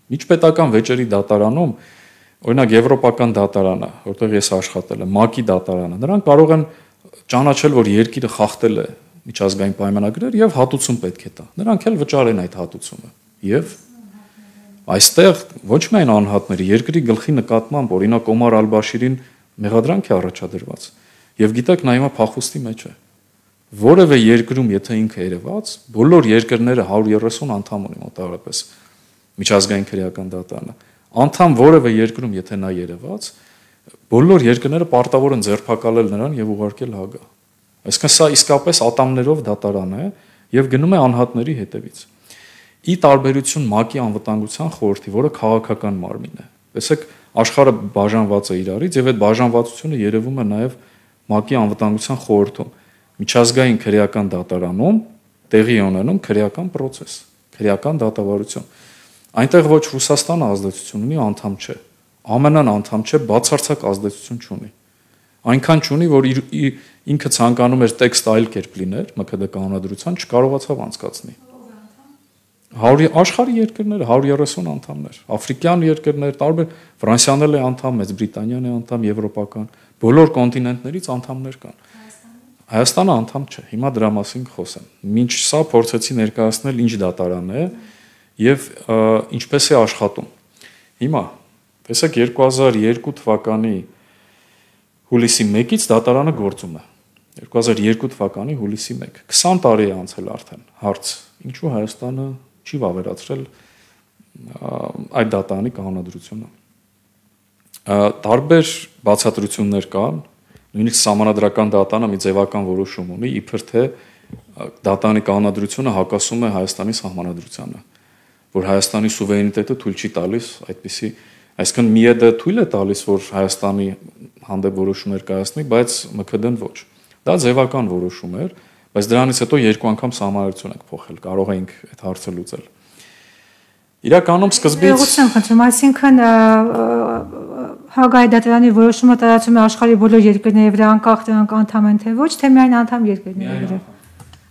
Միջպետական վեճերի դատարանում, օրինակ եվրոպական դատարանը, որտեղ ես աշխատել եմ, ՄԱԿ-ի դատարանը, նրանք կարող են ճանաչել, որ երկիրը խախտել է միջազգային պայմանագրեր եւ հատուցում պետք է տա։ Նրանք էլ վճարեն այդ հատուցումը։ Եվ այստեղ ոչ միայն անհատների, երկրի գլխի նկատմամբ, օրինակ Օմար Ալ-Բաշիրին մեղադրանք է առաջադրված։ Եվ գիտեք, նա հիմա փախուստի մեջ է։ Որևէ երկրում, եթե ինքը երևաց, բոլոր երկրները 130 անդամ ունի մոտավորապես միջազգային քրեական դատարանը։ Անդամ որևէ երկրում, եթե նա երևաց, բոլոր երկրները պարտավոր են ձերբակալել նրան եւ ուղարկել Հագա։ Այսինքն սա իսկապես ատամներով դատարան է եւ գնում է անհատների հետևից։ Ի տարբերություն ՄԱԿ-ի անվտանգության խորհրդի, որը քաղաքական մարմին է։ Տեսեք, աշխարհը բաժանված է իրարից եւ այդ բաժանվածությունը երևում է նաեւ ՄԱԿ-ի անվտանգության խորհրդում։ Միջազգային քրեական դատարանում տեղի է ունենում քրեական process, քրեական դատավարություն։ Այնտեղ ոչ Ռուսաստանը ազդեցություն ունի, անդամ չէ։ ԱՄՆ-ն անդամ չէ, բացարձակ ազդեցություն չունի։ Այնքան չունի, որ ինքը ցանկանում էր տեքստ այլ կերպ լիներ, ՄՔԴ կանոնադրության չկարողացավ անցկացնի։ Աշխարհի երկրները 130 անդամներ, աֆրիկյան երկրներ, տարբեր Ֆրանսիան էլ է անդամ, Մեծ Բրիտանիան է անդամ, եվրոպական, բոլոր կոնտինենտներից անդամներ կան։ Հայաստանը անդամ չէ, հիմա դրա մասին խոսեմ։ Մինչ սա փորձեցի ներկայացնել ինչ դատարան է եւ ինչպես է աշխատում։ Հիմա տեսեք 2002 թվականի հուլիսի 1-ից դատարանը գործում է։ 2002 թվականի հուլիսի 1, 20 տարի է անցել արդեն։ Հարց. ինչու Հայաստանը չի վավերացրել այդ դատարանի կանոնադրությունը։ Տարբեր բացատրություններ կան, նույնիսկ Սահմանադրական դատարանը մի ձևական որոշում ունի, իբր թե դատարանի կանոնադրությունը հակասում է Հայաստանի սահմանադրությանը, որ Հայաստանի սուվերենիտետը թույլ չի տալիս այդպիսի, այսինքն ՄԻԵԴ-ը թույլ է տալիս, որ Հայաստանի հանդեպ որոշումներ կայացնի, բայց ՄՔԴ-ն ոչ։ Դա ձևական որոշում էր, բայց դրանից հետո երկու անգամ սահմանադրություն ենք փոխել, կարող էինք այդ հարցը լուծել։ Իրականում սկզբից այսինքն Հագայի դատարանի որոշումը տարածում է աշխարհի բոլոր երկրների վրա, անկախ դրանք անդամ են թե ոչ, թե միայն անդամ երկրների վրա։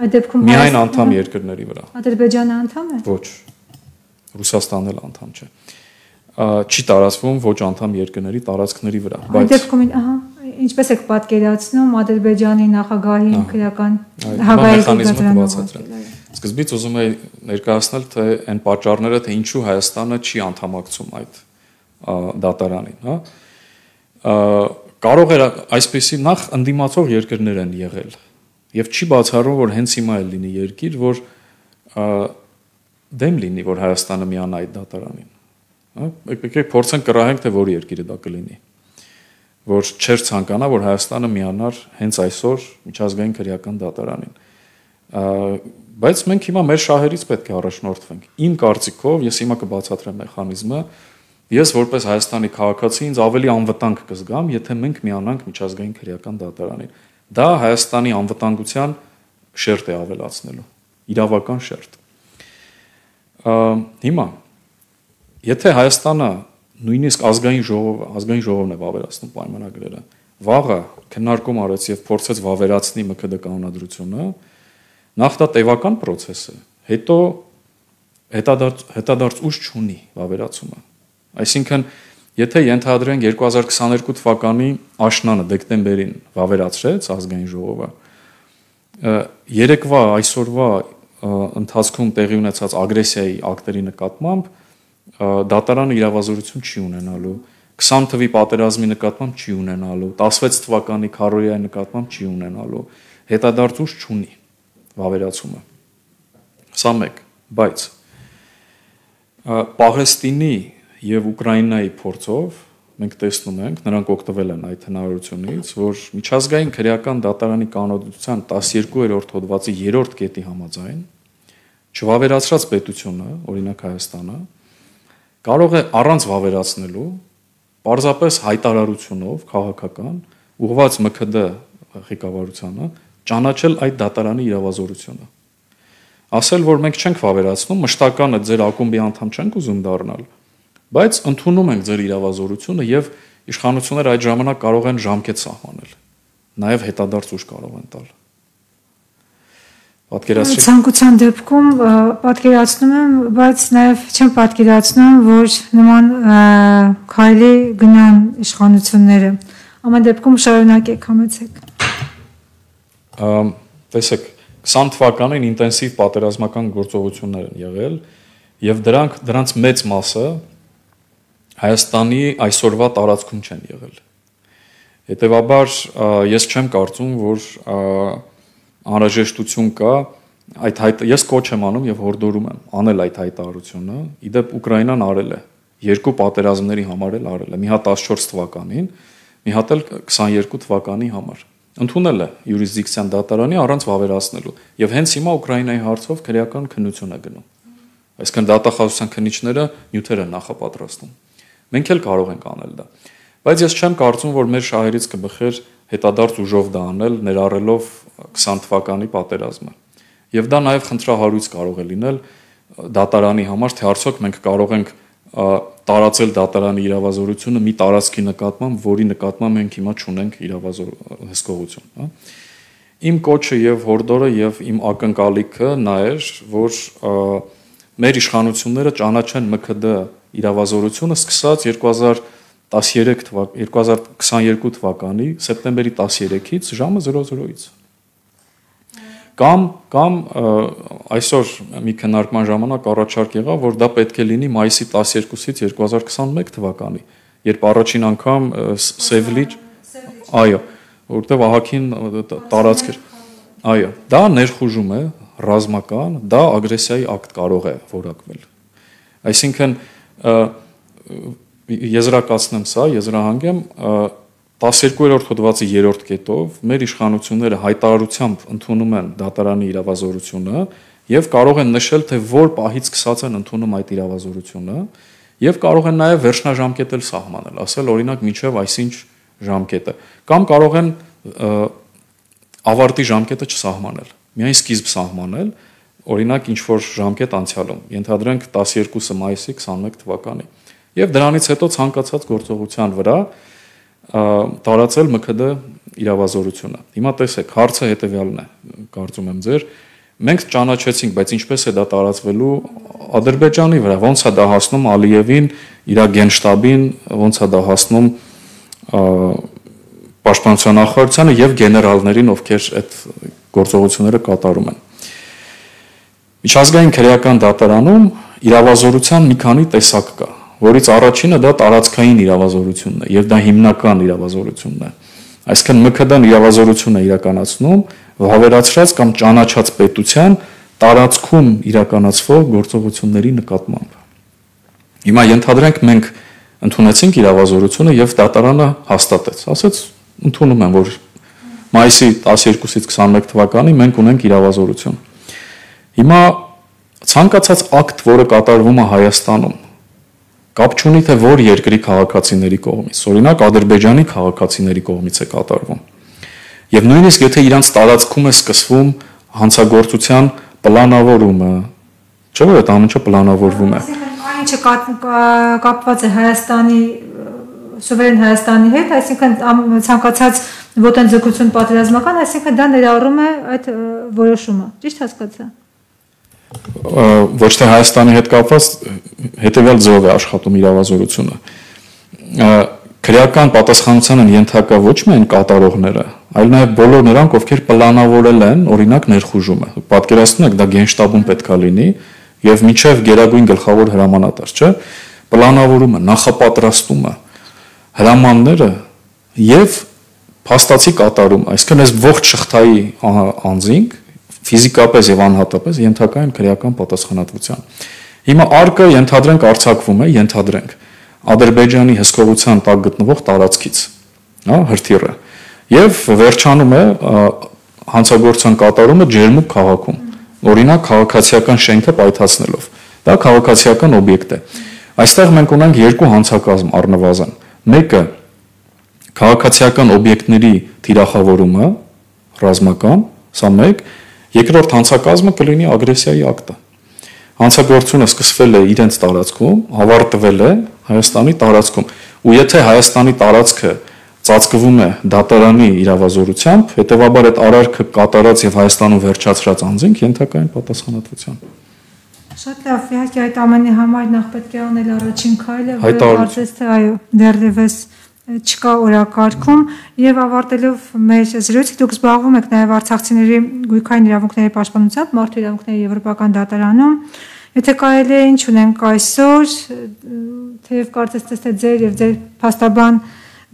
Այդ դեպքում միայն անդամ երկրների վրա։ Ադրբեջանը անդամ է։ Ոչ։ Ռուսաստանն էլ անդամ չէ։ Չի տարածվում ոչ անդամ երկրների տարածքների վրա, բայց այդ դեպքում, ինչպես եք պատկերացնում Ադրբեջանի նախագահի քրեական Հագայի դատարանը։ Սկզբից ուզում եի ներկայացնել թե այն պատճառները, թե ինչու Հայաստանը չի անդամակցում այդ դատարանին, հա։ Կարող էր այսպեսի նախ ընդդիմացող երկրներ են եղել եւ չի բացառում, որ հենց հիմա էլ լինի երկիր, որ դեմ լինի, որ Հայաստանը միանա այդ դատարանին։ Հա, եկեք փորձենք կռահենք, թե որ երկիրը դա կլինի, որ չէր ցանկանա, որ Հայաստանը միանար հենց այսօր միջազգային քրեական դատարանին։ Բայց մենք հիմա մեր շահերից պետք է առաջնորդվենք։ Իմ կարծիքով, ես հիմա կբացատրեմ մեխանիզմը, ես որպես Հայաստանի քաղաքացի ինձ ավելի անվտանգ կզգամ, եթե մենք միանանք միջազգային քրեական դատարանին։ Դա Հայաստանի անվտանգության շերտ է ավելացնելու, իրավական շերտ։ Հիմա եթե Հայաստանը նույնիսկ ազգային ժողովն է վավերացնում պայմանագրերը, վաղը քննարկում արեց եւ փորձեց վավերացնի ՄՔԴ կանոնադրությունը, նախ դա տևական process է, հետո հետադարձ ուժ չունի վավերացումը։ Այսինքն, եթե ենթադրենք 2022 թվականի աշնանը դեկտեմբերին վավերացրեց ազգային ժողովը, երեկվա այսօրվա ընթացքում տեղի ունեցած ագրեսիայի ակտերի նկատմամբ դատարանը իրավազորություն չի ունենալու, 20 թվականի պատերազմի նկատմամբ չի ունենալու, 16 թվականի քարոզիայի նկատմամբ չի ունենալու, հետադարձ ուժ չունի վավերացումը։ Սա մեկ, բայց Պաղեստինի եւ Ուկրաինայի փորձով մենք տեսնում ենք, նրանք օգտվել են այդ հնարավորությունից, որ միջազգային քրեական դատարանի կանոնադրության 12-րդ հոդվածի 3-րդ կետի համաձայն չվավերացրած պետությունը, օրինակ Հայաստանը, կարող է առանց վավերացնելու, պարզապես հայտարարությունով քաղաքական ուղղված ՄՔԴ ղեկավարությանը ճանաչել այդ դատարանի իրավազորությունը։ Ասել, որ մենք չենք վավերացնում, մշտականը ձեր ակումբի անդամ չենք ուզում դառնալ, բայց ընդունում ենք ձեր իրավազորությունը եւ իշխանությունները այդ ժամանակ կարող են ժամկետ սահմանել, նաեւ հետադարձ ուժ կարող են տալ։ Պատկերացրեք։ Ցանկության դեպքում պատկերացնում եմ, բայց նաև չեմ պատկերացնում, որ նման քայլի գնան իշխանությունները։ Ամեն դեպքում շարունակեք, համեցեք։ Տեսեք, 20 թվականին ինտենսիվ պատերազմական գործողություններ են եղել եւ դրանց մեծ մասը Հայաստանի այսօրվա տարածքում չեն եղել։ Հետևաբար ես չեմ կարծում, որ անհրաժեշտություն կա ես կոչ եմ անում եւ հորդորում եմ անել այդ հայտարարությունը։ Իդեպ Ուկրաինան արել է, երկու պատերազմների համար էլ արել է, մի հատ 14 թվականին, մի հատ էլ 22 թվականի համար։ Ընդունել է յուրիսդիկցիան դատարանի առանց վավերացնելու եւ հենց հիմա Ուկրաինայի հարցով քրեական քննություն է գնում։ Այսինքն դատախազության քննիչները նյութեր են նախապատրաստում։ Մենք էլ կարող ենք անել դա։ Բայց ես չեմ կարծում, որ մեր շահերից կբխեր հետադարձ ուժով դա անել, ներառելով 20 թվականի պատերազմը։ Եվ դա նաև խնդրահարույց կարող է լինել դատարանի համար, թե արդյոք մենք կարող ենք տարածել դատարանի իրավազորությունը մի տարածքի նկատմամբ, որի նկատմամբ մենք հիմա չունենք հսկողություն, հա։ Իմ կոչը եւ հորդորը եւ իմ ակնկալիքը նա էր, որ մեր իշխանությունները ճանաչեն ՄՔԴ իրավազորությունը սկսած 2022 թվականի սեպտեմբերի 13-ից ժամը 00-ից։ Կամ այսօր մի քննարկման ժամանակ առաջարկ եղավ, որ դա պետք է լինի մայիսի 12-ից 2021 թվականի, երբ առաջին անգամ Սևլիջ, այո, որտեղ ահագին տարածք էր։ Այո, դա ներխուժում է ռազմական, դա ագրեսիայի ակտ կարող է որակվել։ Այսինքն եզրակացնեմ սա, եզրահանգեմ 12-րդ հոդվածի 3-րդ կետով մեր իշխանությունները հայտարարությամբ ընդունում են դատարանի իրավազորությունը եւ կարող են նշել, թե որ պահից սկսած են ընդունում այդ իրավազորությունը եւ կարող են նաեւ վերջնաժամկետ էլ սահմանել, ասել օրինակ մինչեւ այսինչ ժամկետը, կամ կարող են ավարտի ժամկետը չսահմանել, միայն սկիզբ սահմանել, օրինակ ինչ որ ժամկետ անցյալում, ենթադրենք 12 մայիսի 21 թվականի եւ դրանից հետո ցանկացած գործողության վրա տարածել ՄՔԴ իրավազորությունը։ Հիմա տեսեք, հարցը հետեւյալն է, կարծում եմ ձեր, մենք ճանաչեցինք, բայց ինչպես է դա տարածվելու Ադրբեջանի վրա, ոնց է դա հասնում Ալիևին, իր գենշտաբին, ոնց է դա հասնում պաշտպանության նախարարությանը եւ գեներալներին, ովքեր այդ գործողությունները կատարում են։ Միջազգային քրեական դատարանում իրավազորության մի քանի տեսակ կա, որից առաջինը դա տարածքային իրավազորությունն է եւ դա հիմնական իրավազորությունն է։ Այսինքն ՄՔԴ-ն իրավազորություն է իրականացնում վավերացրած կամ ճանաչած պետության տարածքում իրականացվող գործողությունների նկատմամբ։ Հիմա ենթադրենք մենք ընդունեցինք իրավազորությունը եւ դատարանը հաստատեց, ասեց ընդունում եմ, որ մայիսի 12-ից 21 թվականի մենք ունենք իրավազորություն։ Հիմա ցանկացած ակտ, որը կատարվում է Հայաստանում, կապ չունի թե որ երկրի քաղաքացիների կողմից, օրինակ Ադրբեջանի քաղաքացիների կողմից է կատարվում։ Եվ նույնիսկ եթե իրանց տարածքում է սկսվում հանցագործության պլանավորումը, չէ՞ որ այդ ամենը պլանավորվում է։ Այն ինչը կապված է Հայաստանի սուվերեն Հայաստանի հետ, այսինքն ցանկացած ոտնձգություն պատերազմական, այսինքն դա ներառում է այդ որոշումը։ Ճիշտ հասկացա։ Ոչ թե Հայաստանի հետ կապված հետևյալ ձևով է աշխատում իրավազորությունը։ Քրեական պատասխանության են ենթակա ոչ միայն կատարողները, այլ նաև բոլոր նրանք, ովքեր պլանավորել են, օրինակ ներխուժումը։ Պատկերացնում եք, դա գենշտաբում պետքա լինի եւ միջև գերագույն գլխավոր հրամանատար, չէ՞։ Պլանավորումը, նախապատրաստումը, հրամանները եւ փաստացի կատարում, այսինքն այս ողջ շղթայի անձինք ֆիզիկապես եւ անհատապես ենթակա են քրեական պատասխանատվության։ Հիմա արկը ենթադրենք արձակվում է, ենթադրենք Ադրբեջանի հսկողության տակ գտնվող տարածքից, հա, հրթիռը, եւ վերջանում է հանցագործության կատարումը Ջերմուկ քաղաքում, օրինակ քաղաքացիական շենքը պայթացնելով։ Դա քաղաքացիական օբյեկտ է։ Այստեղ մենք ունենք երկու հանցակազմ առնվազն։ Մեկը քաղաքացիական օբյեկտների թիրախավորումը, ռազմական, սա մեկ, երկրորդ հանցակազմը կլինի ագրեսիայի ակտը։ Հանցագործությունը սկսվել է իրենց տարածքում, ավարտվել է Հայաստանի տարածքում։ Ու եթե Հայաստանի տարածքը ծածկվում է դատարանի իրավազորությամբ, հետևաբար այդ արարքը կատարած եւ Հայաստանում վերջացրած անձինք ենթակա են պատասխանատվության։ Շատ լավ, իհարկե այդ ամենի համար նախ պետք է անել առաջին քայլը, որը կարծես թե այո, դեռևս չկա օրակարգում եւ ավարտելով մեր զրույցը դուք զբաղվում եք նաեւ արցախցիների գույքային իրավունքների պաշտպանությամբ մարդու իրավունքների եվրոպական դատարանում։ Եթե կարելի է ինչ ունենք այսօր, թեև կարծես թե ձեր եւ ձեր փաստաբան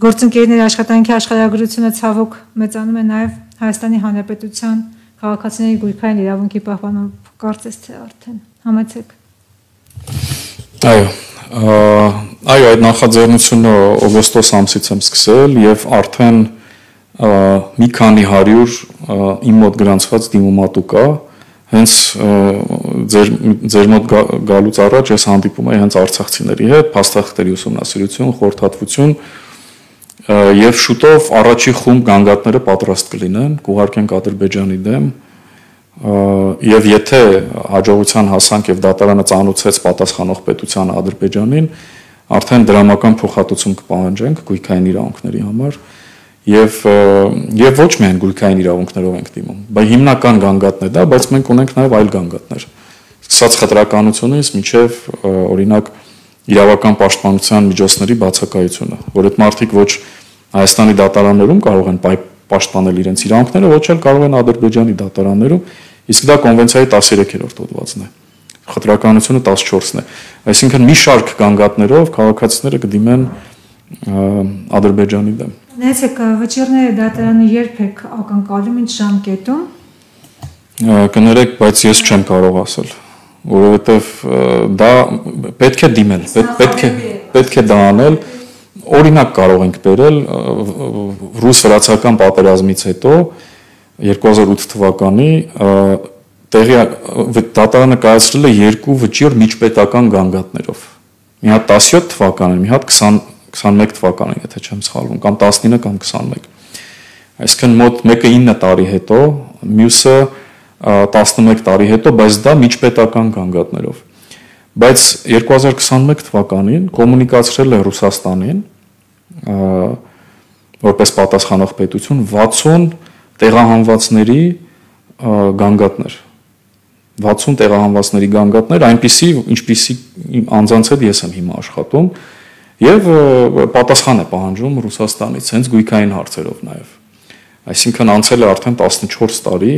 գործընկերների աշխատանքի աշխարհագրությունը ցավոք մեծանում է նաեւ Հայաստանի Հանրապետության քաղաքացիների գույքային իրավունքի պահպանով, կարծես թե արդեն համեցեք։ Այո, այդ նախաձեռնությունը օգոստոս ամսից եմ սկսել եւ արդեն մի քանի 100 իմ մոտ գրանցված դիմումատու կա, հենց ձեր մոտ գալուց առաջ ես հանդիպում եմ հենց արցախցիների հետ, փաստաթղթերի ուսումնասիրություն, խորհրդատվություն եւ շուտով առաջի խումբ գանգատները պատրաստ կլինեն, կուղարկենք Ադրբեջանի դեմ եւ եթե հաջողության հասանք եւ դատարանը ծանոթացեց պատասխանող պետության Ադրբեջանին, արդեն դրամական փոխհատուցում կպահանջենք գույքային իրավունքների համար եւ ոչ միայն գույքային իրավունքներով ենք դիմում, բայց հիմնական գանգատն է դա, բայց մենք ունենք նաեւ այլ գանգատներ։ Սկսած խտրականությունից մինչեւ օրինակ իրավական պաշտպանության միջոցների բացակայությունը, որ այդ մարդիկ ոչ Հայաստանի դատարաններում կարող են պաշտպանել իրենց իրավունքները, ոչ էլ կարող են Ադրբեջանի դատարաններում, իսկ դա կոնվենցիայի 13-րդ հոդվածն է։ Խտրականությունը 14-ն է։ Այսինքն մի շարք գանգատներով քաղաքացիները կդիմեն Ադրբեջանի դեմ։ Նայեցեք, վճիռները դատարանը երբ եք ակնկալում, ինչ ժամկետում։ Կներեք, բայց ես չեմ կարող ասել, որովհետև դա պետք է դիմել, պետք է դա անել։ Օրինակ կարող ենք բերել ռուս-վրացական պատերազմից հետո 2008 թվականի դատարանը կայացրել է երկու վճիռ միջպետական գանգատներով։ Մի հատ 17 թվականին, մի հատ 21 թվականին, եթե չեմ սխալվում, կամ 19 կամ 21։ Այսինքն մոտ մեկը 9 տարի հետո, մյուսը 11 տարի հետո, բայց դա միջպետական գանգատներով։ Բայց 2021 թվականին կոմունիկացրել է Ռուսաստանին որպես պատասխանող պետություն 60 տեղահանվածների գանգատներ 60 տեղահանվածների գանգատներ այնպիսի ինչպիսի անձանց հետ ես եմ հիմա աշխատում եւ պատասխան է պահանջում Ռուսաստանից հենց գույքային հարցերով նաեւ այսինքն անցել է արդեն 14 տարի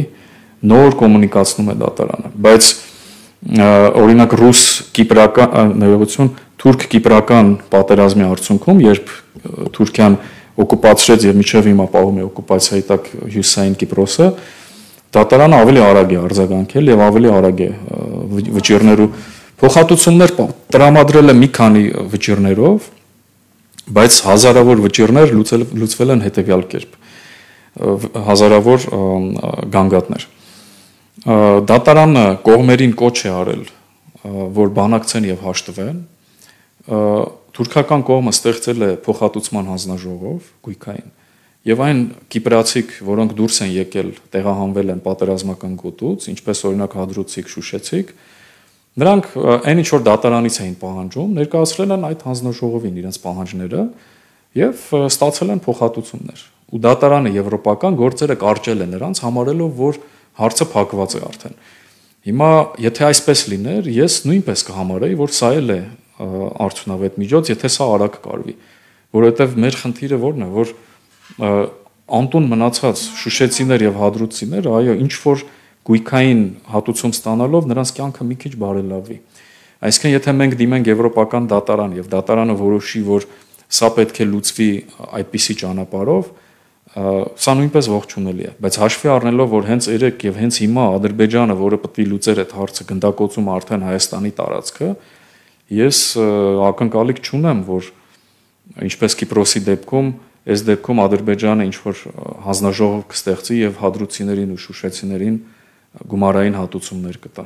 նոր կոմունիկացնում է դատարանը բայց օրինակ ռուս-կիպրական ներողություն թուրք-կիպրական պատերազմի արդյունքում երբ Թուրքիան օկուպացրեց եւ միջև հիմա պահում է օկուպացիայի տակ հյուսային Կիպրոսը դատարանը ավելի արագ է արձագանքել եւ ավելի արագ է վճիռներու փոխհատուցումներ տրամադրել է մի քանի վճիռներով բայց հազարավոր վճիռներ լուծվել են հետեւյալ կերպ հազարավոր գանգատներ դատարանը կողմերին կոչ է արել որ բանակցեն եւ հաշտվեն թուրքական կողմը ստեղծել է փոխհատուցման հանձնաժողով գույքային եւ այն կիպրացիք որոնք դուրս են եկել տեղահանվել են պատերազմական գոտուց ինչպես օրինակ հադրութցիկ շուշեցիկ նրանք այն ինչ որ դատարանից էին պահանջում ներկայացրել են այդ հանձնաժողովին իրենց պահանջները եւ ստացել են փոխհատուցումներ ու դատարանը եվրոպական գործերը կարճել է նրանց համարելով որ հարցը փակված է արդեն հիմա եթե այսպես լիներ ես նույնպես կհամարեի որ սա էլ է արդյունավետ միջոց, եթե սա արագ կարվի, որովհետև մեր խնդիրը որն է, որ անտուն մնացած շուշեցիներ եւ հադրութցիներ, այո, ինչ որ գույքային հատուցում ստանալով նրանց կյանքը մի քիչ բարելավի։ Այսինքն, եթե մենք դիմենք եվրոպական դատարան եւ դատարանը որոշի, որ սա պետք է լուծվի այդպիսի ճանապարհով, սա նույնպես ողջունելի է, բայց հաշվի առնելով, որ հենց երեք եւ հենց հիմա Ադրբեջանը, որը պետք է լուծեր այդ հարցը, գնդակոծում արդեն Հայաստանի տարածքը, ես ակնկալիք չունեմ, որ ինչպես Կիպրոսի դեպքում, այս դեպքում Ադրբեջանը ինչ որ հանձնաժողով կստեղծի եւ հադրութցիներին ու շուշեցիներին գումարային հատուցումներ կտա։